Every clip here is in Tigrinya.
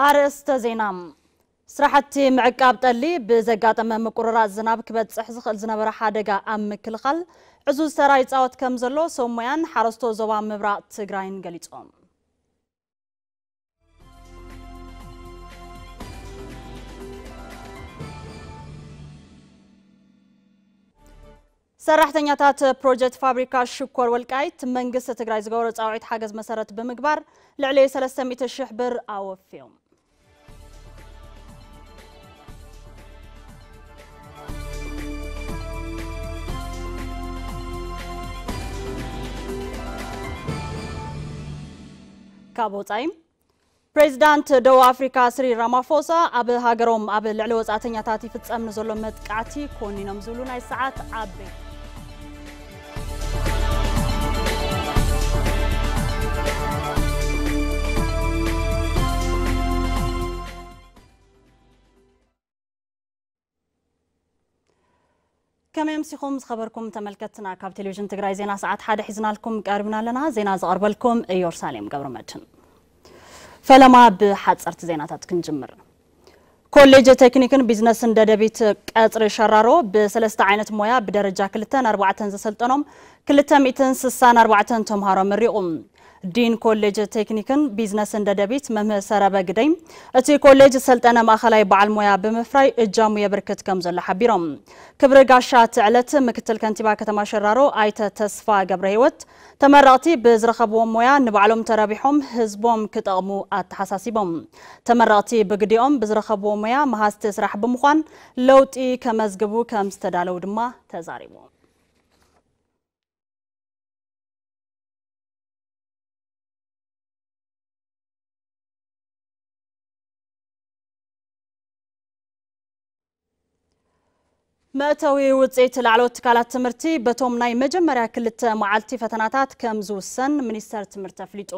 ኣርእስተ ዜና። ስራሕቲ ምዕቃብ ጠሊ ብዘጋጠመ ምቁርራጽ ዝናብ ክበጽሕ ዝኽእል ዝነበረ ሓደጋ ኣብ ምክልኻል ዕዙዝ ተራ ይጻወት ከም ዘሎ ሰብ ሞያን ሓረስቶ ዞባ ምብራቕ ትግራይን ገሊጾም። ሰራሕተኛታት ፕሮጀክት ፋብሪካ ሽኮር ወልቃይት መንግስቲ ትግራይ ዝገበሮ ጻውዒት ሓገዝ መሰረት ብምግባር ልዕሊ ሰለስተ ሚእቲ ሺሕ ብር ኣወፍዮም። ካብ ወጻኢ፣ ፕሬዚዳንት ደቡብ ኣፍሪካ ስሪል ራማፎሳ ኣብ ሃገሮም ኣብ ልዕሊ ወጻእተኛታት ይፍጸም ንዘሎ መጥቃዕቲ ኮኒኖም ዝብሉ ናይ ሰዓት ዓበይቲ። ከመይ ኣምሲኹም ዝኸበርኩም ተመልከትና? ካብ ቴሌቪዥን ትግራይ ዜና ሰዓት ሓደ ሒዝናልኩም ቀሪብና ኣለና። ዜና ዘቐርበልኩም ኢየሩሳሌም ገብረመድህን። ፈለማ ብሓፀርቲ ዜናታት ክንጅምር። ኮሌጅ ቴክኒክን ቢዝነስን ደደቢት ቀፅሪ ሸራሮ ብሰለስተ ዓይነት ሞያ ብደረጃ ክልተን ኣርባዕተን ዘሰልጠኖም ክልተ ሚእትን ስሳን ኣርባዕተን ተምሃሮ መሪቑ። ዲን ኮሌጅ ቴክኒክን ቢዝነስን ደደቢት መምህር ሰረበ ግደይ፣ እቲ ኮሌጅ ዝሰልጠነ ማእኸላይ በዓል ሞያ ብምፍራይ እጃሙ የበርክት ከም ዘሎ ሓቢሮም። ክብሪ ጋሻ እቲ ዕለት ምክትል ከንቲባ ከተማ ሸራሮ ኣይተ ተስፋ ገብረ ህይወት፣ ተመረቕቲ ብዝረኸብዎም ሞያ ንባዕሎም ተረቢሖም ህዝቦም ክጠቕሙ ኣተሓሳሲቦም። ተመረቕቲ ብግዲኦም ብዝረኸብዎ ሞያ መሃዝቲ ስራሕ ብምዃን ለውጢ ከመዝግቡ ከም ዝተዳለዉ ድማ ተዛሪቦም። መእተዊ ውፅኢት ላዕለዎት ትካላት ትምህርቲ በቶም ናይ መጀመርያ ክልተ መዓልቲ ፈተናታት ከም ዝውሰን ሚኒስተር ትምህርቲ ኣፍሊጡ።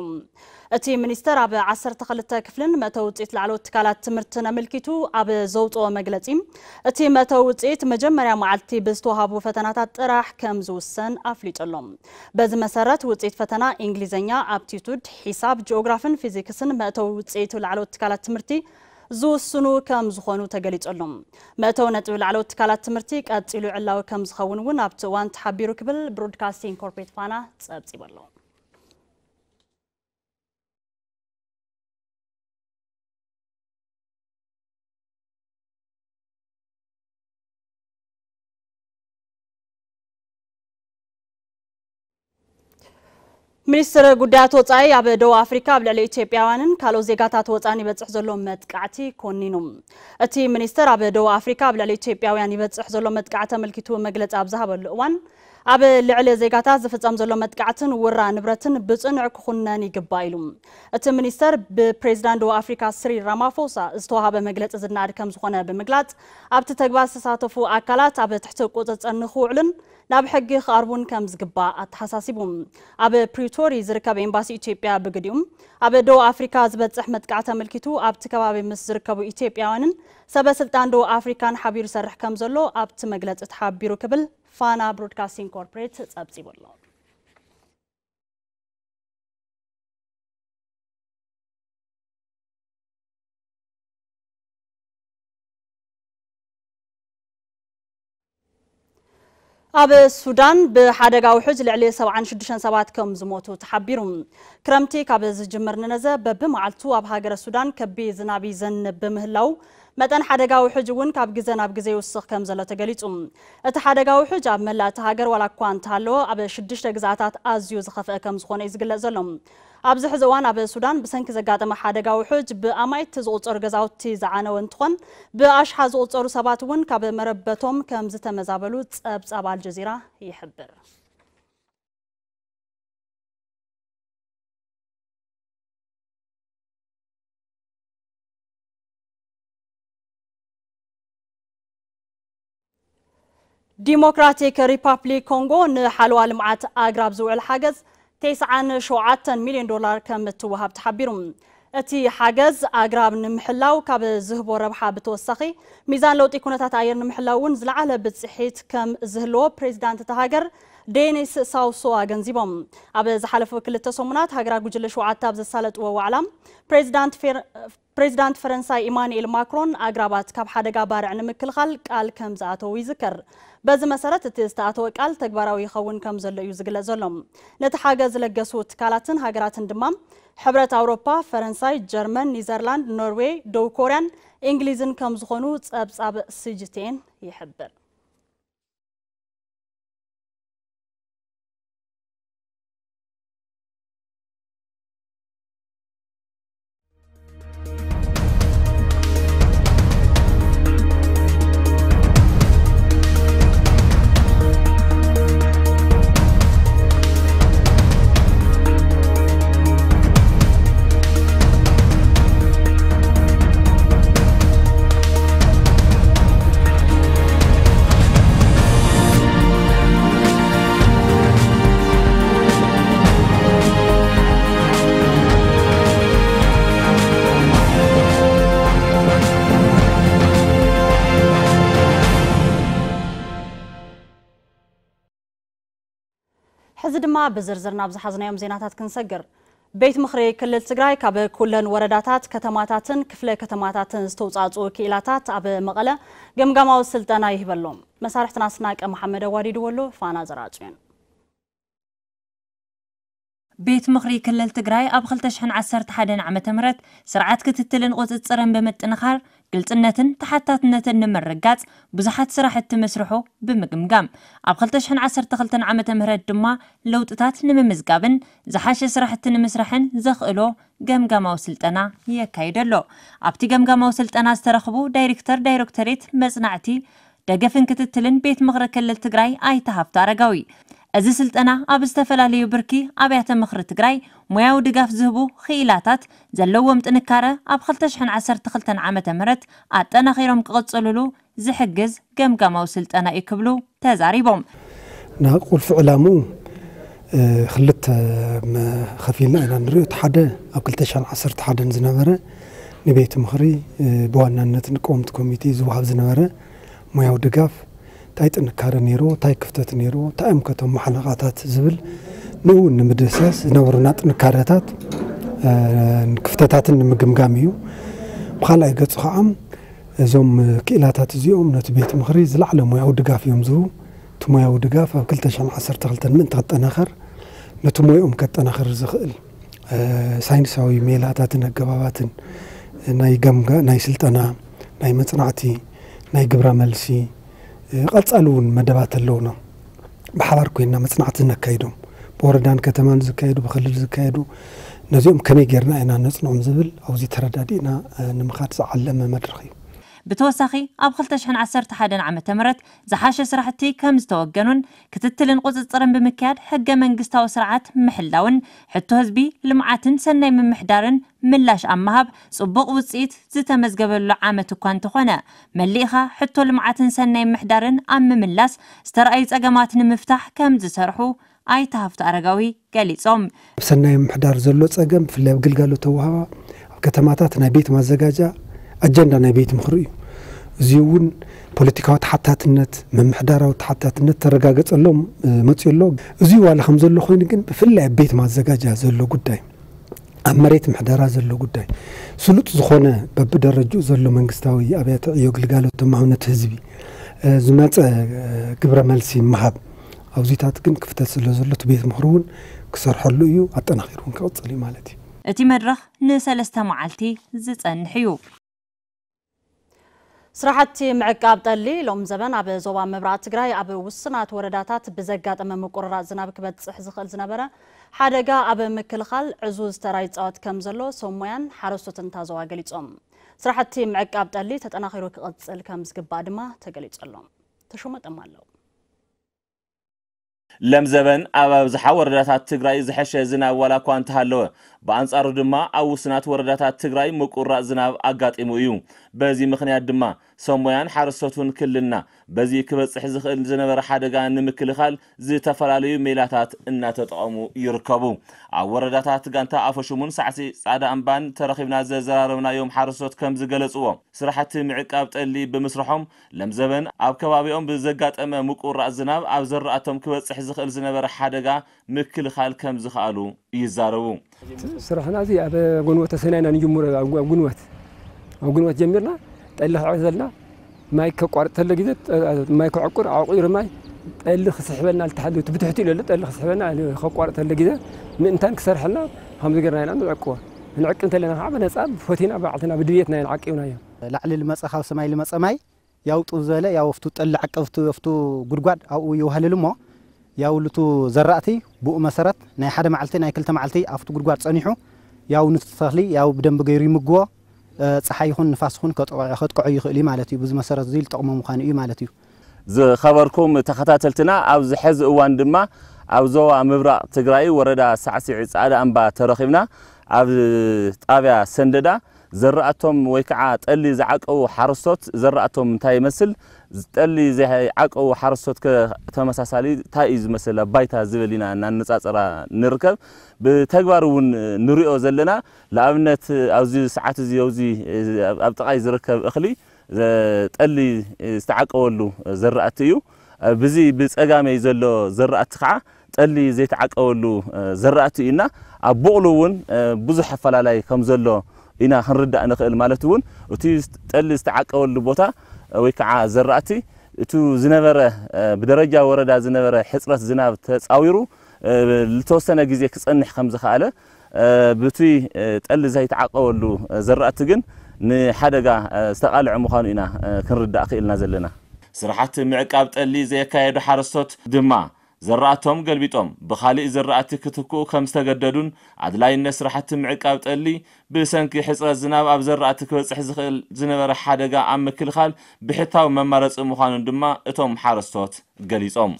እቲ ሚኒስተር ኣብ ዓሰርተ ክልተ ክፍልን መእተዊ ውፅኢት ላዕለዎት ትካላት ትምህርትን ኣመልኪቱ ኣብ ዘውፅኦ መግለፂ፣ እቲ መእተዊ ውፅኢት መጀመርያ መዓልቲ ብዝተዋሃቡ ፈተናታት ጥራሕ ከም ዝውሰን ኣፍሊጡ ኣሎ። በዚ መሰረት ውፅኢት ፈተና እንግሊዝኛ፣ ኣፕቲቱድ፣ ሒሳብ፣ ጂኦግራፍን ፊዚክስን መእተዊ ውፅኢት ላዕለዎት ትካላት ትምህርቲ ዝውስኑ ከም ዝኾኑ ተገሊጹ ኣሎ። መእተዊ ነጥቢ ላዕለዎት ትካላት ትምህርቲ ቀጺሉ ዕላዊ ከም ዝኸውን እውን ኣብቲ እዋን ተሓቢሩ ክብል ብሮድካስቲንግ ኮርፖሬት ፋና ጸብጺቡ ኣሎ። ሚኒስትር ጉዳያት ወጻኢ ኣብ ደቡብ ኣፍሪካ ኣብ ልዕሊ ኢትዮጵያውያንን ካልኦት ዜጋታት ወጻእን ይበጽሕ ዘሎ መጥቃዕቲ ኮኒኑ። እቲ ሚኒስትር ኣብ ደቡብ ኣፍሪካ ኣብ ልዕሊ ኢትዮጵያውያን ይበጽሕ ዘሎ መጥቃዕቲ ኣመልኪቱ መግለጺ ኣብ ዝሃበሉ እዋን፣ ኣብ ልዕሊ ዜጋታት ዝፍጸም ዘሎ መጥቃዕትን ውራ ንብረትን ብጽኑዕ ክኹነን ይግባእ ኢሉ። እቲ ሚኒስተር ብፕሬዚዳንት ደቡብ ኣፍሪካ ስሪል ራማፎሳ ዝተዋሃበ መግለጺ ዝነኣድ ከም ዝኾነ ብምግላጽ፣ ኣብቲ ተግባር ዝተሳተፉ ኣካላት ኣብ ትሕቲ ቁጽጽር ንኽውዕሉን ናብ ሕጊ ክቐርቡን ከም ዝግባእ ኣተሓሳሲቡ። ኣብ ፕሪቶሪ ዝርከብ ኤምባሲ ኢትዮጵያ ብግዲኡ፣ ኣብ ደቡብ ኣፍሪካ ዝበጽሕ መጥቃዕቲ ኣመልኪቱ ኣብቲ ከባቢ ምስ ዝርከቡ ኢትዮጵያውያንን ሰበ ስልጣን ደቡብ ኣፍሪካን ሓቢሩ ይሰርሕ ከም ዘሎ ኣብቲ መግለጺ ተሓቢሩ ክብል ፋና ብሮድካስቲንግ ኮርፖሬት ጸብጺቡ ኣሎ። ኣብ ሱዳን ብሓደጋ ውሕጅ ልዕሊ ሰብዓን ሽዱሽተን ሰባት ከም ዝሞቱ ተሓቢሩ። ክረምቲ ካብ ዝጅምር ንነዘ በብመዓልቱ ኣብ ሃገረ ሱዳን ከቢድ ዝናብ ይዘንብ ብምህላው፣ መጠን ሓደጋ ውሕጅ እውን ካብ ግዘ ናብ ግዘ ይውስኽ ከም ዘሎ ተገሊጹ። እቲ ሓደጋ ውሕጅ ኣብ መላእ እታ ሃገር ዋላ እኳ እንተሃለወ፣ ኣብ ሽዱሽተ ግዝኣታት ኣዝዩ ዝኸፍአ ከም ዝኾነ እዩ ዝግለጽ ዘሎ። ኣብዚ ሕዚ እዋን ኣብ ሱዳን ብሰንኪ ዘጋጠመ ሓደጋ ውሕጅ ብኣማኢት ዝቑጸሩ ገዛውቲ ዝዓነወ እንትኾን፣ ብኣሽሓት ዝቑጸሩ ሰባት እውን ካብ መረበቶም ከም ዝተመዛበሉ ጸብጻብ ኣልጀዚራ ይሕብር። ዲሞክራቲክ ሪፓብሊክ ኮንጎ ንሓለዋ ልምዓት ኣግራብ ዝውዕል ሓገዝ ተስዓን ሸውዓተን ሚልዮን ዶላር ከም እትወሃብ ተሓቢሩ። እቲ ሓገዝ ኣግራብ ንምሕላው ካብ ዝህቦ ረብሓ ብተወሳኺ፣ ሚዛን ለውጢ ኩነታት ኣየር ንምሕላው እውን ዝለዓለ ብፅሒት ከም ዝህልዎ ፕሬዚዳንት እታ ሃገር ዴኒስ ሳውሶ ኣገንዚቦም። ኣብ ዝሓለፉ ክልተ ሰሙናት ሃገራት ጉጅለ ሸውዓተ ኣብ ዘሳለጥዎ ዋዕላ፣ ፕሬዚዳንት ፌር-፣ ፕሬዚዳንት ፈረንሳይ ኢማኑኤል ማክሮን ኣግራባት ካብ ሓደጋ ባርዕ ንምክልኻል ቃል ከም ዝኣተዉ ይዝከር። በዚ መሰረት እቲ ዝተኣተወ ቃል ተግባራዊ ይኸውን ከም ዘሎ እዩ ዝግለጽ ዘሎ። ነቲ ሓገዝ ዝለገሱ ትካላትን ሃገራትን ድማ ሕብረት ኣውሮፓ፣ ፈረንሳይ፣ ጀርመን፣ ኒዘርላንድ፣ ኖርዌይ፣ ደቡብ ኮርያን እንግሊዝን ከም ዝኾኑ ጸብጻብ ሲጂቲኤን ይሕብር። ሕዚ ድማ ብዝርዝር ናብ ዝሓዝናዮም ዜናታት ክንሰግር። ቤት ምኽሪ ክልል ትግራይ ካብ ኩለን ወረዳታት፣ ከተማታትን ክፍለ ከተማታትን ዝተውፃእፅኡ ክኢላታት ኣብ መቐለ ገምጋማዊ ስልጠና ይህበሎም። መሳርሕትና ኣስናቀ መሓመድ ኣዋዲድዎ ኣሎ። ፋና ዘራጭዮን። ቤት ምኽሪ ክልል ትግራይ ኣብ ክልተ ሽሕን ዓሰርተ ሓደን ዓመተ ምህረት ስርዓት ክትትልን ቁፅፅርን ብምጥንኻር ግልፅነትን ተሓታትነትን ንምርጋፅ ብዙሓት ስራሕቲ ምስርሑ ብምግምጋም፣ ኣብ ክልተ ሽሕን ዓሰርተ ክልተን ዓመተ ምህረት ድማ ለውጥታት ንምምዝጋብን ዝሓሸ ስራሕቲ ንምስራሕን ዘኽእሎ ገምጋማዊ ስልጠና የካይድ ኣሎ። ኣብቲ ገምጋማዊ ስልጠና ዝተረኽቡ ዳይሬክተር ዳይሬክቶሬት መፅናዕቲ ደገፍን ክትትልን ቤት ምኽሪ ክልል ትግራይ ኣይተ ሃፍቱ ኣረጋዊ፣ እዚ ስልጠና ኣብ ዝተፈላለዩ ብርኪ ኣብያተ ምኽሪ ትግራይ ሞያዊ ድጋፍ ዝህቡ ክኢላታት ዘለዎም ጥንካረ ኣብ ክልተ ሽሕን ዓሰርተ ክልተን ዓመተ ምህረት ኣጠናኺሮም ክቕፅልሉ ዝሕግዝ ገምጋማዊ ስልጠና እዩ ክብሉ ተዛሪቦም። እና ቁልፊ ዕላምኡ፣ እ፣ ክልተ መ-፣ ከፊልና ኢና ንሪኦ። እቲ ሓደ ኣብ ክልተ ሽሕን ዓሰርተ ሓደን ዝነበረ ንቤት ምኽሪ፣ እ፣ ብዋናነት ንቀወምቲ ኮሚቴ ዝወሃብ ዝነበረ ሞያዊ ድጋፍ እንታይ ጥንካረ ነይርዎ፣ እንታይ ክፍተት ነይርዎ፣ እንታይ እዮም ከቶም መሓነቓታት ዝብል ንኡ ንምድህሳስ ዝነበሩና ጥንካረታት፣ እ፣ ክፍተታትን ንምግምጋም እዩ። ብኻልኣይ ገፁ ከዓ እዞም ክኢላታት እዚኦም ነቲ ቤት ምኽሪ ዝለዓለ ሞያዊ ድጋፍ እዮም ዝህቡ። እቲ ሞያዊ ድጋፍ ኣብ ክልተ ሽሕን ዓሰርተ ክልተን ምእንቲ ክጠናኸር ነቲ ሞያኦም ከጠናኽር ዝኽእል፣ እ፣ ሳይንሳዊ ሜላታትን ኣገባባትን ናይ ገምጋ-፣ ናይ ስልጠና፣ ናይ መጽናዕቲ፣ ናይ ግብረ መልሲ፣ እ፣ ቀጻሊ እውን መደባት ኣለውና። ብሓባር ኮይንና መጽናዕቲ ነካይዶም። ብወረዳን ከተማን ዝካየዱ፣ ብክልል ዝካየዱ፣ ነዚኦም ከመይ ጌርና ኢና ነጽንዖም ዝብል ኣብዚ ተረዳዲእና፣ እ፣ ንምኻድ ዝዓለመ መድረኽ እዩ። ብተወሳኺ ኣብ ክልተ ሽሕን ዓሰርተ ሓደን ዓመተ ምህረት ዝሓሸ ስራሕቲ ከም ዝተወገኑን ክትትልን ቁፅፅርን ብምክያድ ሕገ መንግስታዊ ስርዓት ምሕላውን ሕቶ ህዝቢ ልምዓትን ሰናይ ምምሕዳርን ምላሽ ኣብ ምሃብ ፅቡቕ ውፅኢት ዝተመዝገበሉ ዓመት እኳ እንተኾነ፣ መሊእኻ ሕቶ ልምዓትን ሰናይ ምምሕዳርን ኣብ ምምላስ ዝተረኣዩ ፀገማት ንምፍታሕ ከም ዝሰርሑ ኣይተ ሃፍቱ ኣረጋዊ ገሊጾም። ኣብ ሰናይ ምምሕዳር ዘሎ ጸገም፣ ብፍላይ ኣብ ግልጋሎት ኣወሃህባ ኣብ ከተማታት ናይ ቤት ማዘጋጃ ኣጀንዳ ናይ ቤት ምኽሪ እዩ። እዚ እውን ፖለቲካዊ ተሓታትነት፣ ምምሕዳራዊ ተሓታትነት ተረጋገጸሎም፣ እ፣ መጺኡ ኣሎ። እዚ ዋላ ከም ዘሎ ኮይኑ ግን ብፍላይ ኣብ ቤት ማዘጋጃ ዘሎ ጉዳይ፣ ኣብ መሬት ምሕደራ ዘሎ ጉዳይ፣ ስሉጥ ዝኾነ በብደረጅኡ ዘሎ መንግስታዊ ኣብያተ ዕዮ ግልጋሎት ተማውነት ህዝቢ፣ እ፣ ዝመጸ፣ እ፣ ግብረ መልሲ ምሃብ ኣብዚታት ግን ክፍተት ስለ ዘሎ እቲ ቤት ምኽሪ እውን ክሰርሐሉ እዩ፣ ኣጠናኺሩ እውን ክቕፅል እዩ ማለት እዩ። እቲ መድረኽ ንሰለስተ መዓልቲ ዝጸንሕ እዩ። ስራሕቲ ምዕቃብ ጠሊ ሎም ዘበን ኣብ ዞባ ምብራቕ ትግራይ ኣብ ውስናት ወረዳታት ብዘጋጠመ ምቁርራፅ ዝናብ ክበፅሕ ዝኽእል ዝነበረ ሓደጋ ኣብ ምክልኻል ዕዙዝ ተራ ይፃወት ከም ዘሎ ሰብ ሞያን ሓረስቶትን ታዘዋ ገሊፆም። ስራሕቲ ምዕቃብ ጠሊ ተጠናኺሩ ክቕፅል ከም ዝግባእ ድማ ተገሊፁ ኣሎ። ተሾመ ጠማለው። ለምዘበን ኣብ ኣብዝሓ ወረዳታት ትግራይ ዝሐሸ ዝናብ ዋላ እኳ እንተሃለወ፣ ብኣንጻሩ ድማ ኣብ ውስናት ወረዳታት ትግራይ ምቁራጽ ዝናብ ኣጋጢሙ እዩ። በዚ ምኽንያት ድማ ሰሞያን ሓረስቶቱን ክልልና በዚ ክበጽሕ ዝኽእል ዝነበረ ሓደጋ ንምክልኻል ዝተፈላለዩ ሜላታት እናተጠቐሙ ይርከቡ። ኣብ ወረዳታት ጋንታ ኣፈሹሙን ሳዕሲ ጻዕዳ እምባን ተረኺብና ዘዘራረብናዮም ሓረስቶት ከም ዝገለጽዎ፣ ስራሕቲ ምዕቃብ ጠሊ ብምስርሖም ለምዘበን ኣብ ከባቢኦም ብዘጋጠመ ምቁራጽ ዝናብ ኣብ ዘራእቶም ክበጽሕ ዝኽእል ዝነበረ ሓደጋ ምክልኻል ከም ዝኸኣሉ ይዛረቡ። ስራሕና እዚ ኣብ ጉንበት ተሰናይና ንጅምሮ፣ ኣብ ጉ-፣ ኣብ ጉንበት ኣብ ግንቦት ጀሚርና ጠሊ ክዕዘልና፣ ማይ ከቋርጥ ተሎ ግዜ፣ ጠ-፣ ማይ ክዕቁር፣ ኣዕቁሩ ማይ፣ ጠሊ ክስሕበልና ልተሓሉ፣ እቲ ብትሕቲ ኢሉ ኣሎ፣ ጠሊ ክስሕበልና፣ ከቋርጥ ተሎ ግዜ፣ ምእንታን ክሰርሐልና፣ ከምዚ ገርና ኢና ንዕቅቦ። ንዕቅ እንተለና ከዓ ብነጻ፣ ብፎቲና፣ ባዕልና፣ ብድልየትና ኢና ዓቂብናዮ። ላዕሊ ልመጸ፣ ካብ ሰማይ ልመጸ ማይ፣ ያው ጡብ ዝበለ፣ ያው ኣብቱ ጠሊ ዓቀብቱ፣ ኣብቱ ጉድጓድ ኣብኡ ይውሃልል እሞ፣ ያው ልቱ ዘራእቲ ብኡ መሰረት ናይ ሓደ መዓልቲ፣ ናይ ክልተ መዓልቲ ኣብቱ ጉድጓድ ጸኒሑ፣ ያው ንቱ ተኽሊ፣ ያው ብደንብ ገይሩ ይምግቦ። እ፣ ጸሓይ ይኹን ንፋስ ይኹን ከጥቅዖ፣ ከጥቅዖ ይኽእል እዩ ማለት እዩ። ብዚ መሰረት እዚ ዝጠቕሞ ምዃኑ እዩ ማለት እዩ። ዝኸበርኩም ተኸታተልትና፣ ኣብዚ ሕዚ እዋን ድማ ኣብ ዞባ ምብራቕ ትግራይ ወረዳ ሳዕሲዒ ጻዕዳ እምባ ተረኺብና። ኣብ ጣብያ ሰንደዳ ዘራእቶም ወይ ከዓ ጠሊ ዝዓቀቡ ሓረስቶት ዘራእቶም እንታይ ይመስል፣ ጠሊ ዘይዓቀቡ ሓረስቶት ከ ተመሳሳሊ እንታይ እዩ ዝመስል ኣብ ባይታ ዝብል ኢና እናነጻጸራ ንርከብ። ብተግባር እውን ንሪኦ ዘለና። ንኣብነት ኣብዚ ሰዓት እዚ ኣብዚ ኣብ ጥቓይ ዝርከብ እኽሊ ዘ-፣ ጠሊ ዝተዓቀበሉ ዘራእቲ እዩ። ብዚ ብጸጋመይ ዘሎ ዘራእቲ ከዓ ጠሊ ዘይተዓቀበሉ ዘራእቲ እዩ እና ኣብ ቦቕሉ እውን ብዙሕ ኣፈላላይ ከም ዘሎ ኢና ክንርዳእ ንኽእል። ማለት እውን እቲ ጠሊ ዝተዓቀበሉ ቦታ ወይ ከዓ ዘራእቲ እቱ ዝነበረ ብደረጃ ወረዳ ዝነበረ ሕጽረት ዝናብ ተጻዊሩ ዝተወሰነ ግዜ ክጸንሕ ከም ዝኸኣለ፣ ብቲ ጠሊ ዘይተዓቀበሉ ዘራእቲ ግን ንሓደጋ ዝተቓልዐ ምዃኑ ኢና ክንርዳእ ክኢልና ዘለና። ስራሕቲ ምዕቃብ ጠሊ ዘየካየዱ ሓረስቶት ድማ ዘራእቶም ገልቢጦም ብኻሊእ ዘራእቲ ክትክኡ ከም ዝተገደዱን ኣድላይነት ስራሕቲ ምዕቃብ ጠሊ ብሰንኪ ሕጽረት ዝናብ ኣብ ዘራእቲ ክበጽሕ ዝኽእል ዝነበረ ሓደጋ ኣብ ምክልኻል ብሕታዊ መማረጺ ምዃኑን ድማ እቶም ሓረስቶት ገሊጾም።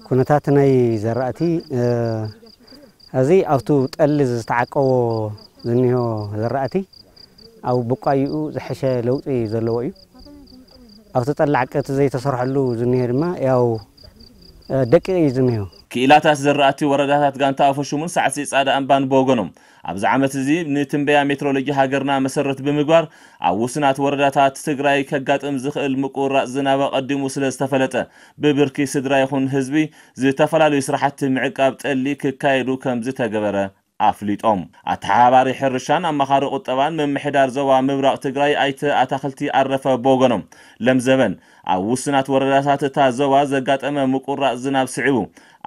ኩነታት ናይ ዘራእቲ፣ እ፣ እዚ ኣብቱ ጠሊ ዝተዓቀቦ ዝኒሆ ዘራእቲ ኣብ ብቋይኡ ዝሐሸ ለውጢ ዘለዎ እዩ። ኣብቲ ጠሊ ዓቀብቲ ዘይተሰርሐሉ ዝኒሆ ድማ ያው፣ እ፣ ደቂቕ እዩ ዝኒሆ። ክኢላታት ዘራእቲ ወረዳታት ጋንታ ኣፈሹሙን ሳዕሲ ጻዕዳ እምባን ብወገኖም ኣብዚ ዓመት እዚ ንትንበያ ሜትሮሎጂ ሃገርና መሰረት ብምግባር ኣብ ውሱናት ወረዳታት ትግራይ ከጋጥም ዝኽእል ምቁራጽ ዝናብ ኣቐዲሙ ስለ ዝተፈለጠ ብብርኪ ስድራ ይኹን ህዝቢ ዝተፈላለዩ ስራሕቲ ምዕቃብ ጠሊ ክካየዱ ከም ዝተገበረ ኣፍሊጦም። ኣተሓባባሪ ሕርሻን ኣማኻሪ ቁጠባን ምምሕዳር ዞባ ምብራቕ ትግራይ ኣይተ ኣታኽልቲ ኣረፈ ብወገኖም ለምዘበን ኣብ ውሱናት ወረዳታት እታ ዞባ ዘጋጠመ ምቁራጽ ዝናብ ስዒቡ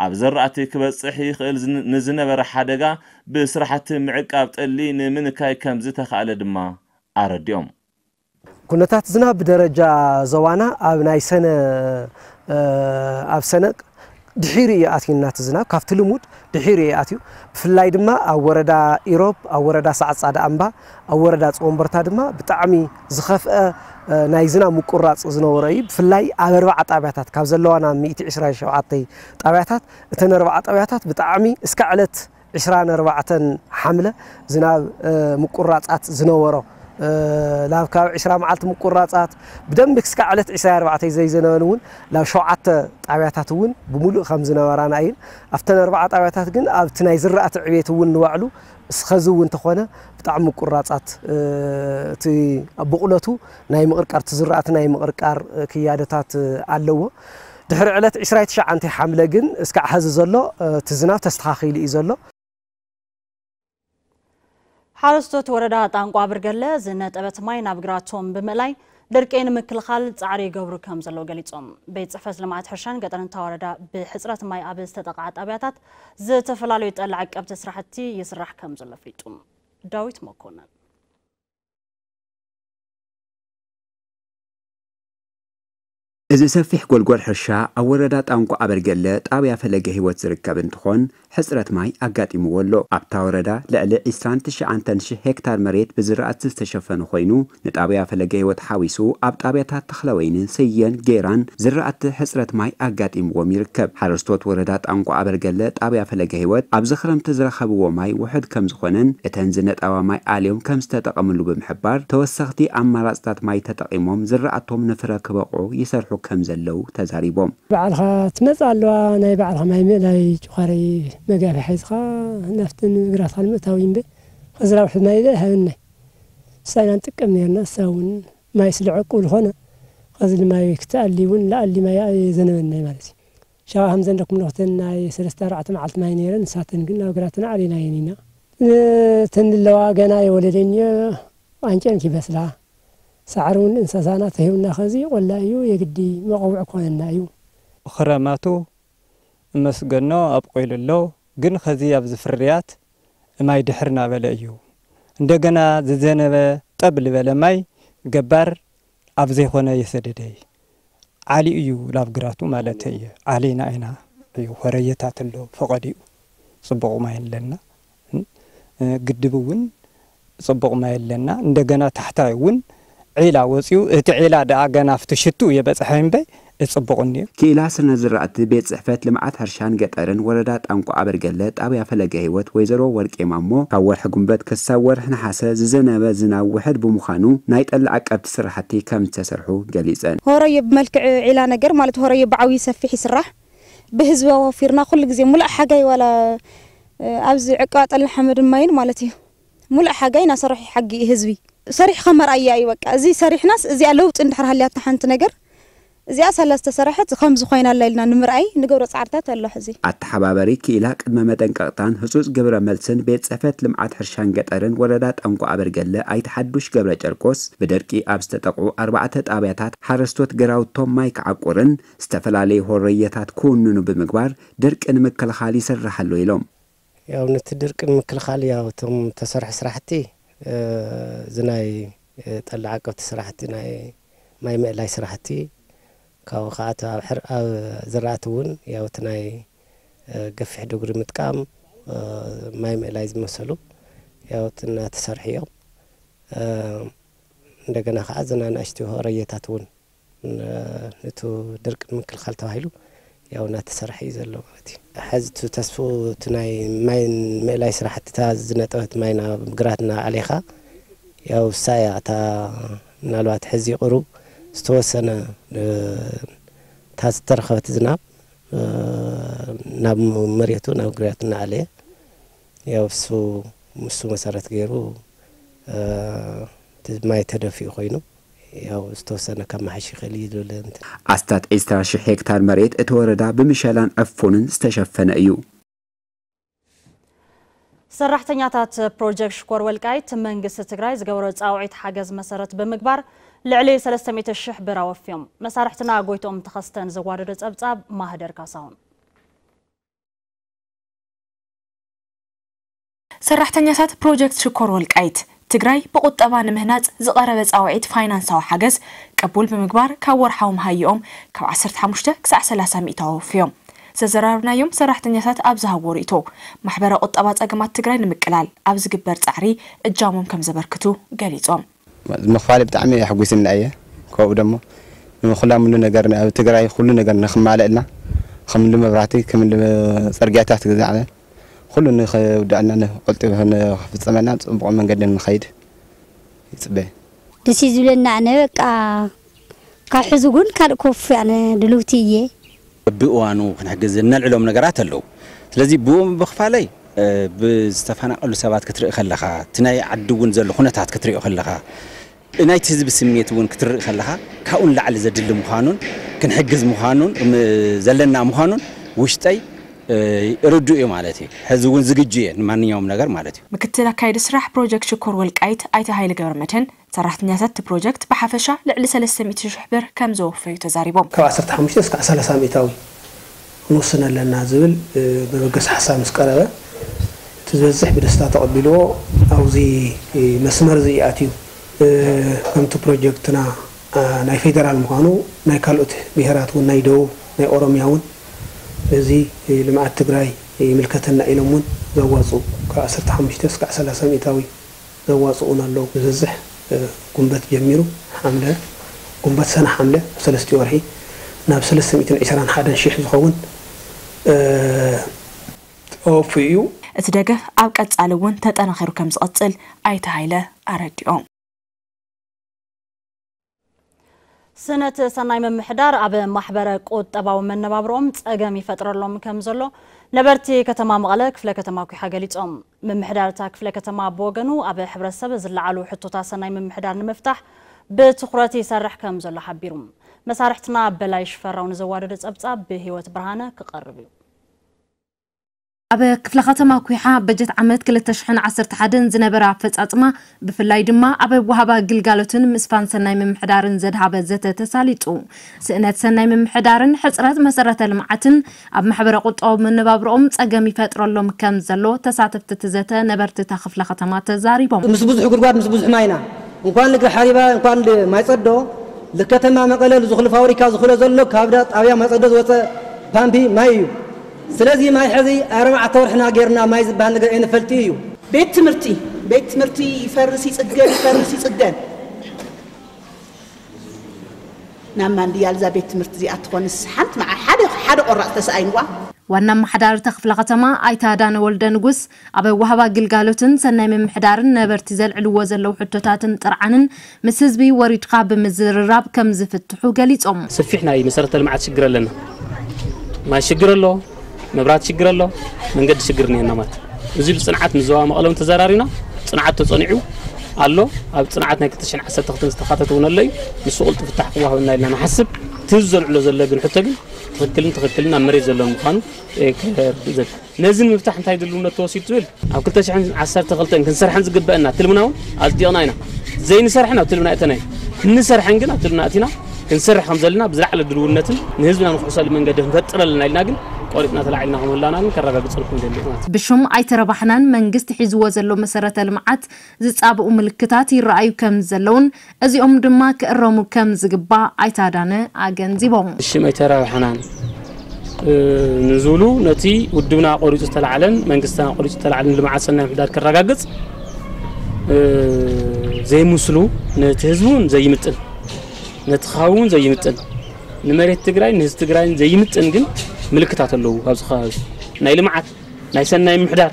ኣብ ዘራእቲ ክበጽሕ ይኽእል ዝን-፣ ንዝነበረ ሓደጋ ብስራሕቲ ምዕቃብ ጠሊ ንምንካይ ከም ዝተኻእለ ድማ ኣረዲኦም። ኩነታት ዝናብ ብደረጃ ዞባና ኣብ ናይ ሰነ፣ እ፣ ኣብ ሰነ ድሒሩ እዩ ኣትዩና። እቲ ዝናብ ካብቲ ልሙድ ድሒሩ እዩ ኣትዩ። ብፍላይ ድማ ኣብ ወረዳ ኢሮብ፣ ኣብ ወረዳ ሰዓት ጻድኣምባ፣ ኣብ ወረዳ ጽወንበርታ ድማ ብጣዕሚ ዝኸፍአ፣ እ፣ ናይ ዝናብ ምቁራጽ ዝነበሮ እዩ። ብፍላይ ኣብ ኣርባዓ ጣብያታት ካብ ዘለዋና ሚእቲ ዕስራን ሸውዓተን ጣብያታት፣ እተን ኣርባዓ ጣብያታት ብጣዕሚ እስካዕ ዕለት ዕስራን ኣርባዕተን ሓምለ ዝናብ፣ እ፣ ምቁራጻት ዝነበሮ፣ እ፣ ላብ ካብ ዕስራ መዓልቲ ምቁራጻት ብደንቢ ክስካ ዕለት ዕስራን ኣርባዕተን ዘይዘነበን እውን ላብ ሸውዓተ ጣብያታት እውን ብምሉእ ከም ዝነበራና እየን። ኣብተን ኣርባዓ ጣብያታት ግን ኣብቲ ናይ ዝራእቲ ዕቤት እውን ንባዕሉ እስኸዚ እውን እንተኾነ ብጣዕሚ ምቁራጻት፣ እ፣ እቲ ብቑለቱ ናይ ምቕርቃር፣ እቲ ዝራእቲ ናይ ምቕርቃር፣ እ፣ ክያደታት፣ እ፣ ኣለዎ። ድሕሪ ዕለት ዕስራን ትሽዓተን ሓምለ ግን እስካዕ ሐዚ ዘሎ፣ እ፣ እቲ ዝናብ ተስተኻኺሉ እዩ ዘሎ። ሓረስቶት ወረዳ ጣንቋ ብርገለ ዝነጠበት ማይ ናብ ግራቶም ብምእላይ ድርቂ ንምክልኻል ጻዕሪ ይገብሩ ከም ዘለዉ ገሊጾም። ቤት ጽሕፈት ልምዓት ሕርሻን ገጠርን እታ ወረዳ ብሕጽረት ማይ ኣብ ዝተጠቕዓ ጣብያታት ዝተፈላለዩ ጠሊ ዓቀብቲ ስራሕቲ ይስራሕ ከም ዘሎ ኣፍሊጡ። ዳዊት መኮነን። እዚ ሰፊሕ ጎልጎል ሕርሻ ኣብ ወረዳ ጣንቋ ኣበርገለ ጣብያ ፈለገ ህይወት ዝርከብ እንትኾን፣ ሕፅረት ማይ ኣጋጢምዎ ኣሎ። ኣብታ ወረዳ ልዕሊ ዒስራን ትሽዓተን ሽሕ ሄክታር መሬት ብዝራእቲ ዝተሸፈነ ኮይኑ፣ ንጣብያ ፈለገ ህይወት ሓዊሱ ኣብ ጣብያታት ተኽለወይኒ፣ ስየን ጌራን ዝራእቲ ሕፅረት ማይ ኣጋጢምዎም ይርከብ። ሓረስቶት ወረዳ ጣንቋ ኣበርገለ ጣብያ ፈለገ ህይወት ኣብዚ ክረምቲ ዝረኸብዎ ማይ ውሑድ ከም ዝኾነን እተን ዝነጠባ ማይ ኣልዮም ከም ዝተጠቐምሉ ብምሕባር፣ ተወሰኽቲ ኣማራፅታት ማይ ተጠቒሞም ዝራእቶም ንፍረ ክበቕዑ ይሰርሑ ከም ዘለዉ ተዛሪቦም። ባዕልኻ ትመጽእ ኣለዋ፣ ናይ ባዕልኻ ማይ ምእላይ ጭዃረይ መጋፊያ ሒዝኻ ናብቲ ንግራትኻ ንምእታው እዩ እምበር፣ ኸዚ ራብሒ ማይ ኣይሃበናይ። ንሳ ኢና ንጥቀም ነርና፣ ንሳ እውን ማይ ስለ ዕቁብ ዝኾነ፣ ኸዚ ማይ ክትኣሊ እውን ለኣሊ ማይ ኣይዘነበናይ ማለት እዩ። ሻባ ከም ዘንደኩም ለኽተን ናይ ሰለስተ ኣርባዕተ መዓልቲ ማይ ነይረን፣ ንሳተን ግን ናብ ግራትና ኣሊናየን ኢና። እተን ኣለዋ ገና የወለደን እየ፣ ኣንጭን ክይበስላ፣ ሳዕሪ እውን እንስሳና ተሂብና፣ ከዚ ቆላ እዩ፣ የግዲ መቐውዕ ክኾነና እዩ። ክረማቱ እመስገኖ ኣብቂሉ ኣሎ፣ ግን ከዚ ኣብዚ ፍርያት ማይ ድሕር እናበለ እዩ። እንደገና ዝዘነበ ጠብ ዝበለ ማይ ገባር ኣብ ዘይኮነ የሰደደ እዩ። ዓሊ እዩ ላብ ግራቱ ማለት እዩ። ዓሊና ኢና እዩ። ሆረየታት ኣሎ ፈቐዲኡ ጽቡቕ ማይ ኣለና። እ፣ ግድብ እውን ጽቡቕ ማይ ኣለና። እንደገና ታሕታይ እውን ዒላ ወጺኡ፣ እቲ ዒላ ደኣ ገና ኣብቲ ሽቱ የበጽሐ እምበይ፣ ጽቡቕ እኒኦ። ክኢላ ስነ ዝራእቲ ቤት ጽሕፈት ልምዓት ሕርሻን ገጠርን ወረዳ ጣንቋ ኣበርገለ ጣብያ ፈለገ ህይወት ወይዘሮ ወርቄ ማሞ፣ ካብ ወርሒ ጉንበት ክሳብ ወርሒ ነሓሰ ዝዘነበ ዝናብ ውሕድ ብምዃኑ ናይ ጠሊ ዓቀብቲ ስራሕቲ ከም ዝተሰርሑ ገሊጸን። ሆረዮ ብመልክዕ ዒላ ነገር ማለት ሆረዮ ብዓብዩ ሰፊሕ ይስራሕ። ብህዝቢ ኣዋፊርና ኩሉ ግዜ ሙሉእ ሓጋይ ዋላ፣ እ፣ ኣብዚ ዕቃ ጠሊ ሓመድን ማይን ማለት እዩ። ሙሉእ ሓጋይ እናሰርሑ ይሓጊ ህዝቢ። ሰሪሕኻ መርኣያ እዩ በቃ። እዚ ሰሪሕናስ እዚኣ ለውጢ እንድሕር ሃልያታ ሓንቲ ነገር፣ እዚኣ ሳላ ዝተሰረሐት ከምዚ ኮይና ኣላ ኢልና ንምርኣይ ንገብሮ ጻዕርታት ኣሎ ሕዚ። ኣተሓባበሪ ክኢላ ቅድመ መጠንቀቕታን ህጹጽ ግብረ መልስን ቤት ጽሕፈት ልምዓት ሕርሻን ገጠርን ወረዳ ጣንቋ ኣበርገለ ኣይተ ሓዱሽ ገብረ ጨርቆስ፣ ብደርቂ ኣብ ዝተጠቕዑ ኣርባዕተ ጣብያታት ሓረስቶት ግራውቶም ማይ ክዓቁርን ዝተፈላለዩ ሆረየታት ክውንኑ ብምግባር ድርቂ ንምክልኻል ይስራሕ ኣሎ ኢሎም። ያው ነቲ ድርቂ ንምክልኻል ያው እቶም ተሰርሑ ስራሕቲ፣ እ፣ እዚ ናይ፣ እ፣ ጠሊ ዓቀብቲ ስራሕቲ፣ ናይ ማይ ምእላይ ስራሕቲ፣ ካብኡ ከዓ እቲ ኣብ ሕር-፣ ኣብ ዝራእቲ እውን ያው እቲ ናይ፣ እ፣ ገፊሕ ዱግሪ ምጥቃም፣ እ፣ ማይ ምእላይ ዝመሰሉ ያው እቲ እናተሰርሑ እዮም። እ፣ እንደገና ከዓ እዘን ኣናእሽቱ ሆረየታት እውን ን-፣ ነቲ ድርቂ ንምክልኻል ተባሂሉ ያው እናተሰርሐ እዩ ዘሎ ማለት እዩ። ሕዚ እቲ ተስፍኡ እቲ ናይ ማይ ምእላይ ስራሕቲ እታ ዝነጠበት ማይ ናብ ግራት እናኣዕሌኻ ያው እሳ እያ እታ ምናልባት ሕዚ ቁሩብ ዝተወሰነ፣ እ፣ እታ ዝተረኸበት ዝናብ፣ እ፣ ናብ መሬቱ ናብ ግራት እናኣለየ ያው እሱ፣ እሱ መሰረት ገይሩ፣ እ፣ እቲ ማይ ተደፊኡ ኮይኑ ያው ዝተወሰነ ከመሓሽ ይኽእል እዩ ዝብል እንትን። ኣስታት ዒስራ ሽሕ ሄክታር መሬት እቲ ወረዳ ብምሸላን ዕፉንን ዝተሸፈነ እዩ። ሰራሕተኛታት ፕሮጀክት ሽኮር ወልቃይት መንግስቲ ትግራይ ዝገበሮ ፃውዒት ሓገዝ መሰረት ብምግባር ልዕሊ ሰለስተ ሚእቲ ሽሕ ብር ኣወፍዮም። መሳርሕትና ጎይትኦም ተኸስተን ዘዋደዶ ጸብጻብ ማህደር ካሳሁን። ሰራሕተኛታት ፕሮጀክት ሽኮር ወልቃይት ትግራይ ብቁጠባ ንምህናፅ ዝቐረበ ፃውዒት ፋይናንሳዊ ሓገዝ ቅቡል ብምግባር ካብ ወርሓዊ መሃይኦም ካብ ዓሰርተ ሓሙሽተ ክሳዕ ሰላሳ ሚእታዊ ኣወፍዮም። ዘዘራረብናዮም ሰራሕተኛታት ኣብ ዝሃብዎ ርእይቶ፣ ማሕበረ ቁጠባ ፀገማት ትግራይ ንምቅላል ኣብ ዝግበር ፃዕሪ እጃሞም ከም ዘበርክቱ ገሊፆም። ምኽፋል ብጣዕሚ ኣሕጒስና እየ። ካብኡ ደሞ ንኹላም ሁሉ ነገር ኣብ ትግራይ ሁሉ ነገር ንኽማለእልና፣ ከም እንዲ መብራህቲ፣ ከም እንዲ ጽርግያታት ግዛዕና፣ ኩሉ ንኽውዳእና ንቐልጢፉ ንኽፍጸመልና ጽቡቕ መንገዲ ንኸይድ ይጽበ። ደስ እዩ ዝብለና። ኣነ በቃ ካብ ሕዚ እውን ካልእ ክወፍይ ኣነ ድልውቲ እየ። በብእዋኑ ክንሕግዝ እነልዕሎም ነገራት ኣለዉ። ስለዚ ብኡ ምብኽፋለይ፣ እ፣ ብዝተፈናቐሉ ሰባት ክትርኢ ከለኻ፣ እቲ ናይ ዓዲ እውን ዘሎ ኩነታት ክትሪኦ ከለኻ፣ ናይቲ ህዝቢ ስምዒት እውን ክትርኢ ከለኻ፣ ካብኡ ንላዕሊ ዘድሊ ምዃኑን ክንሕግዝ ምዃኑን፣ ም-፣ ዘለና ምዃኑን ውሽጠይ፣ እ፣ ርዱእ እዩ ማለት እዩ። ሕዚ እውን ዝግጁ እየ ንማንኛውም ነገር ማለት እዩ። ምክትል ኣካያዲ ስራሕ ፕሮጀክት ሽኮር ወልቃይት ኣይተ ሃይለ ገብረመድህን፣ ሰራሕተኛታት እቲ ፕሮጀክት ብሓፈሻ ልዕሊ ሰለስተ ሚእቲ ሽሕ ብር ከም ዘወፈዩ ተዛሪቦም። ካብ ዓሰርተ ሓሙሽተ እስካዕ ሰላሳ ሚእታዊ ክንውስን ኣለና ዝብል፣ እ፣ መበገሲ ሓሳብ ምስ ቀረበ፣ እቲ ዝበዝሕ ብደስታ ተቐቢልዎ ኣብዚ፣ እ፣ መስመር እዚ ኣትዩ። እ፣ ከምቲ ፕሮጀክትና፣ እ፣ ናይ ፌደራል ምዃኑ ናይ ካልኦት ብሄራት እውን ናይ ደቡብ ናይ ኦሮምያ እውን በዚ፣ እ፣ ልምዓት ትግራይ ይምልከተና ኢሎም እውን ዘዋፅኡ ካብ ዓሰርተ ሓሙሽተ እስካዕ ሰላሳ ሚእታዊ ዘዋፅኡን ኣለዉ። ብዝብዝሕ፣ እ፣ ጉንበት ጀሚሩ ሓምለ፣ ጉንበት ሰነ ሓምለ ኣብ ሰለስቲኡ ወርሒ ናብ ሰለስተ ሚእትን ዕስራን ሓደን ሽሕ ዝኸውን፣ እ፣ ተወፊዩ እዩ። እቲ ደገፍ ኣብ ቀጻሊ እውን ተጠናኺሩ ከም ዝቐጽል ኣይተ ሃይለ ኣረዲኦም። ስእነት ሰናይ ምምሕዳር ኣብ ማሕበረ ቁጠባዊ መነባብሮኦም ጸገም ይፈጥረሎም ከም ዘሎ ነበርቲ ከተማ መቐለ ክፍለ ከተማ ኲሓ ገሊጾም። ምምሕዳር እታ ክፍለ ከተማ ብወገኑ ኣብ ሕብረተሰብ ዝለዓሉ ሕቶታት ሰናይ ምምሕዳር ንምፍታሕ ብትኹረት ይሰርሕ ከም ዘሎ ሓቢሩ። መሳርሕትና በላይ ሽፈራው ንዘዋደዶ ጸብጻብ ብህይወት ብርሃነ ክቐርብ እዩ። ኣብ ክፍለ ከተማ ኩሓ በጀት ዓመት ክልተ ሽሕን ዓሰርተ ሓደን ዝነበረ ኣፈጻጽማ፣ ብፍላይ ድማ ኣብ ወሃባ ግልጋሎትን ምስፋን ሰናይ ምምሕዳርን ዘድሃበ ዘተ ተሳሊጡ። ስእነት ሰናይ ምምሕዳርን ሕጽረት መሰረተ ልምዓትን ኣብ ማሕበረ ቁጠባዊ መነባብሮኦም ጸገም ይፈጥረሎም ከም ዘሎ ተሳተፍቲ እቲ ዘተ ነበርቲ እታ ክፍለ ከተማ ተዛሪቦም። ምስ ብዙሕ ጉድጓድ፣ ምስ ብዙሕ ማይና፣ እንኳን ልግሪ ሓሪባ፣ እንኳን ማይጸዶ፣ ልከተማ መቐለ ዝኹሉ ፋብሪካ ዝኹሎ ዘሎ ካብ ዳ-፣ ጣብያ ማይጸዶ ዝወፀ ፓምፒ ማይ እዩ። ስለዚ ማይ ሕዚ ኣርባዕተ ወርሕና ጌርና ማይ ዝበሃል ነገር ኣይንፈልጥ እዩ። ቤት ትምህርቲ፣ ቤት ትምህርቲ ይፈርስ ይጽገን፣ ይፈርስ ይጽገን። ናብ ማንድያል እዛ ቤት ትምህርቲ እዚኣ ትኾንስ ሓንቲ መዓ-፣ ሓደ፣ ሓደ ቆራፅ ተሰኣይንዋ። ዋና ኣመሓዳሪ እታ ክፍለ ከተማ ኣይተ ኣዳነ ወልደ ንጉስ፣ ኣብ ወሃባ ግልጋሎትን ሰናይ ምምሕዳርን ነበርቲ ዘልዕልዎ ዘለዉ ሕቶታትን ጥርዓንን ምስ ህዝቢ ወሪድካ ብምዝርራብ ከም ዝፍትሑ ገሊጾም። ሰፊሕ ናይ መሰረተ ልምዓት ሽግር ኣለና። ማይ ሽግር ኣሎ፣ መብራት ሽግር ኣሎ፣ መንገዲ ሽግር እኒሀና ማለት እዩ። እዚ ብጽንዓት ምስ ዞባ መቐለ እውን ተዘራሪብና፣ ጽንዓት ተጸኒዑ ኣሎ። ኣብ ጽንዓት ናይ ክልተ ሽሕን ዓሰርተ ክልተን ዝተኻተተ እውን ኣሎ እዩ። ንሱ ቅልጡፍ ፍታሕ ክወሃበና ኢልና ንሓስብ። እቲ ህዝቢ ዘልዕሎ ዘሎ ግን ሕቶ ግን ትኽክልን ትኽክልን ኣብ መሬት ዘሎ ምዃኑ፣ እ፣ ክርእ ዘብል። ነዚ ንምፍታሕ እንታይ ድልውነት ተወሲዱ ትብል? ኣብ ክልተ ሽሕን ዓሰርተ ክልተን ክንሰርሐን ዝግበአና ትልምና እውን ኣጽዲቕና ኢና። ዘይንሰርሐን ኣብ ትልምና እተና ኢና። እንሰርሐን ግን ኣብ ትልምና እቲና ክንሰርሕ ከም ዘለና ብዝለዓለ ድልውነትን ንህዝብና ንክሕሰሉ መንገዲ ክንፈጥር ኣለና ኢልና ግን ቆሪጽና ተላዒልና ከም ህላና ግን ከረጋግጸልኩም ይደሊ ማለት እዩ። ብሹም ኣይተረባሕናን መንግስቲ ሒዝዎ ዘሎ መሰረተ ልምዓት ዝጻብኡ ምልክታት ይረኣዩ ከም ዘለውን እዚኦም ድማ ክእረሙ ከም ዝግባእ ኣይተ ኣዳነ ኣገንዚቦም። ብሽም ኣይተረባሕናን፣ እ፣ ንዝብሉ ነቲ ውድብና ቆሪጹ ዝተላዕለን መንግስትና ቆሪጹ ዝተላዕለን ልምዓት ሰናይ ምሕዳር ከረጋግጽ፣ እ፣ ዘይምስሉ፣ ነቲ ህዝቢ እውን ዘይምጥን፣ ነቲ ከባቢ እውን ዘይምጥን፣ ንመሬት ትግራይ ንህዝቢ ትግራይን ዘይምጥን ግን ምልክታት ኣለዉ። ኣብዚ ከባቢ ናይ ልምዓት ናይ ሰናይ ምሕዳር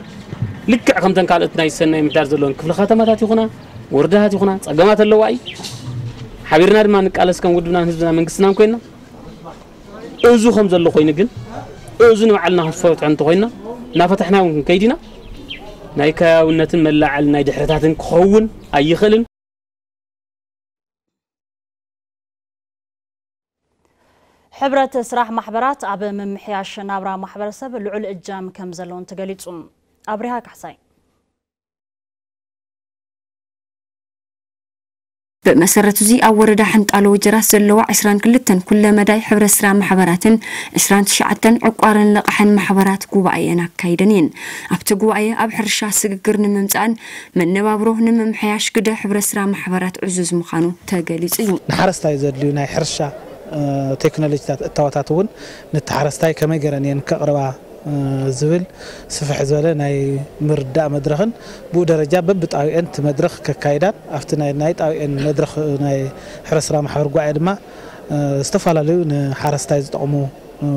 ልክዕ ከምተን ካልኦት ናይ ሰናይ ምሕዳር ዘለወን ክፍለ ከተማታት ይኹና ወረዳታት ይኹና ጸገማት ኣለዋ እዩ። ሓቢርና ድማ ንቃለስ ከም ውድብናን ህዝብና መንግስትናን ኮይና፣ እዚ ከም ዘሎ ኮይኑ ግን እዚ ንባዕልና ክንፈትሖ እንተኮይና እናፈታሕና እውን ክንከይድ ኢና። ናይ ከባብነትን መላዓል ናይ ድሕረታትን ክኸውን ኣይኽእልን። ሕብረት ስራሕ ማሕበራት ኣብ ምምሕያሽ ናብራ ማሕበረሰብ ልዑል እጃም ከም ዘለውን ተገሊጹ። ኣብሪሃ ካሕሳይ። ብመሰረት እዚ ኣብ ወረዳ ሕንጣሎ ወጀራት ዘለዋ ዕስራን ክልተን ኩለ መዳይ ሕብረት ስራሕ ማሕበራትን ዕስራን ትሽዓተን ዕቋርን ልቓሕን ማሕበራት ጉባኤን ኣካይደን እየን። ኣብቲ ጉባኤ ኣብ ሕርሻ ስግግር ንምምጻእን መነባብሮ ንምምሕያሽ ግደ ሕብረት ስራሕ ማሕበራት ዕዙዝ ምዃኑ ተገሊጹ እዩ። ንሓረስታይ ዘድልዩ ናይ ሕርሻ፣ እ፣ ቴክኖሎጂታት እታወታት እውን ነቲ ሓረስታይ ከመይ ገይረን እየን ከቕርባ፣ እ፣ ዝብል ስፍሕ ዝበለ ናይ ምርዳእ መድረኽን ብኡ ደረጃ በብጣቢኤን እቲ መድረኽ ከካይዳን ኣብቲ ናይ፣ ናይ ጣቢኤን መድረኽ ናይ ሕርሻ ስራሕ ማሕበር ጉባኤ ድማ፣ እ፣ ዝተፈላለዩ ንሓረስታይ ዝጠቕሙ፣ እ፣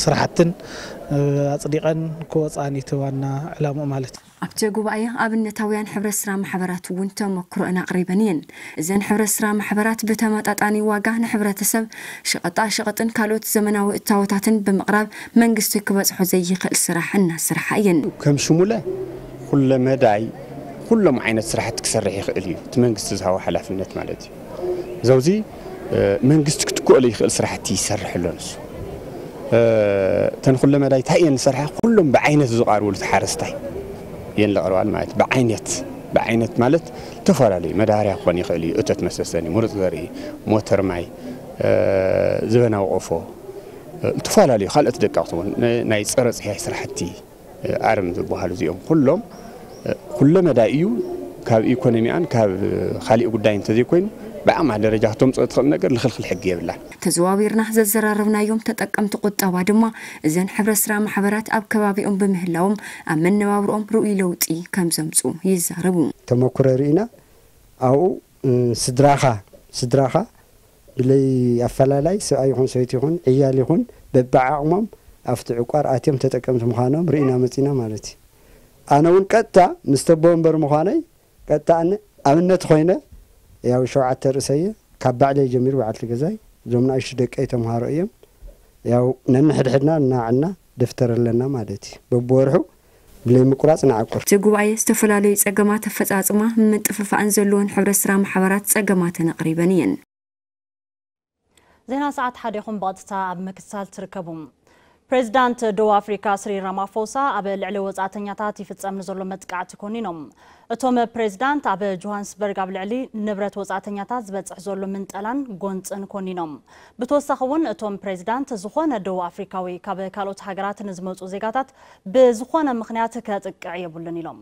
ስራሕትን፣ እ፣ ኣጽዲቐን ክወፅኣን እዩ እቲ ዋና ዕላምኡ ማለት እዩ። ኣብቲ ጉባኤ ኣብነታውያን ሕብረት ስራሕ ማሕበራት እውን ተመክሮአን ኣቕሪበን እየን። እዘን ሕብረት ስራሕ ማሕበራት ብተመጣጣኒ ዋጋ ንሕብረተሰብ ሸቐጣ ሸቐጥን ካልኦት ዘመናዊ እታወታትን ብምቕራብ መንግስቲ ክበጽሖ ዘይኽእል ስራሕ እናሰርሓ እየን። ከም ሽሙለ ኩለ መዳይ ኩሎም ዓይነት ስራሕቲ ክሰርሕ ይኽእል እዩ፣ እቲ መንግስቲ ዝሃቦ ሓላፍነት ማለት እዩ። ዘውዚ፣ እ፣ መንግስቲ ክትክኦሉ ይኽእል ስራሕቲ ይሰርሕ ኣሎ ንሱ። እ፣ እተን ኩለ መዳይ እንታይ እየን ዝሰርሓ? ኩሎም ብዓይነት ዝቐርብሉ፣ እቲ ሓረስታይ እየን ዝቐርባሉ ማለት እዩ። ብዓይነት፣ ብዓይነት ማለት ዝተፈላለዩ መዳበርያ ክኾን ይኽእል እዩ፣ እቶት መሰሰኒ፣ ምሩፅ ዘርኢ፣ ሞተር ማይ፣ እ፣ ዘበናዊ ቆፎ፣ እ፣ ዝተፈላለዩ ካልኦት ደቀቕቲ እውን፣ ን-፣ ናይ ፀረ ፅህያይ ስራሕቲ፣ ኣርም ዝበሃሉ እዚኦም ኩሎም፣ ኩለ መዳይ እዩ። ካብ ኢኮኖሚኣን ካብ ካሊእ ጉዳይ እንተዘይኮይኑ ብዓቕማ ደረጃ ክተምፅኦ ትኽእል ነገር ልኽልኽል ሕጊ የብላን። ተዘዋዊርና ዘዘራረብናዮም ተጠቀምቲ ቁጠባ ድማ እዘን ሕብረት ስራሕ ማሕበራት ኣብ ከባቢኦም ብምህላዎም ኣብ መነባብርኦም ርኡይ ለውጢ ከም ዘምፁ ይዛረቡ። ተመኩሮ ርኢና፣ ኣብኡ፣ እ፣ ስድራኻ፣ ስድራኻ ብለይ ኣፈላላይ ሰብኣይ ይኹን ሰበይቲ ይኹን ዕያል ይኹን በብዓቕሞም ኣብቲ ዕቋር ኣትዮም ተጠቀምቲ ምዃኖም ርኢና መጺና ማለት እዩ። ኣነ እውን ቀጥታ ምስ ተቦ ወንበር ምዃነይ ቀጥታ ኣነ ኣብነት ኮይነ፣ ያው ሸውዓተ ርእሰየ ካብ ባዕለይ ጀሚሩ በዓልቲ ገዛይ፣ እዞም ንኣሽቱ ደቀይ ተምሃሮ እዮም። ያው ነንሕድሕድና እናዓልና ደፍተር ኣለና ማለት እዩ። በብወርሑ ብለይ ምቁራጽ ንዓቁር። እቲ ጉባኤ ዝተፈላለዩ ጸገማት ኣፈጻጽማ ምጥፍፋእን ዘለወን ሕብረት ስራሕ ማሕበራት ጸገማተን ኣቕሪበን እየን። ዜና ሰዓት ሓደ ኢኹም ብቐጥታ ኣብ ምክትታል ትርከቡ። ፕሬዚዳንት ደቡብ ኣፍሪካ ስሪል ራማፎሳ ኣብ ልዕሊ ወጻእተኛታት ይፍጸም ንዘሎ መጥቃዕቲ ኮኒኖም። እቶም ፕሬዚዳንት ኣብ ጆሃንስበርግ ኣብ ልዕሊ ንብረት ወጻእተኛታት ዝበጽሕ ዘሎ ምንጠላን ጎንጽን ኮኒኖም። ብተወሳኺ እውን እቶም ፕሬዚዳንት ዝኾነ ደቡብ ኣፍሪካዊ ካብ ካልኦት ሃገራት ንዝመጹ ዜጋታት ብዝኾነ ምኽንያት ከጥቅዕ የብሉን ኢሎም።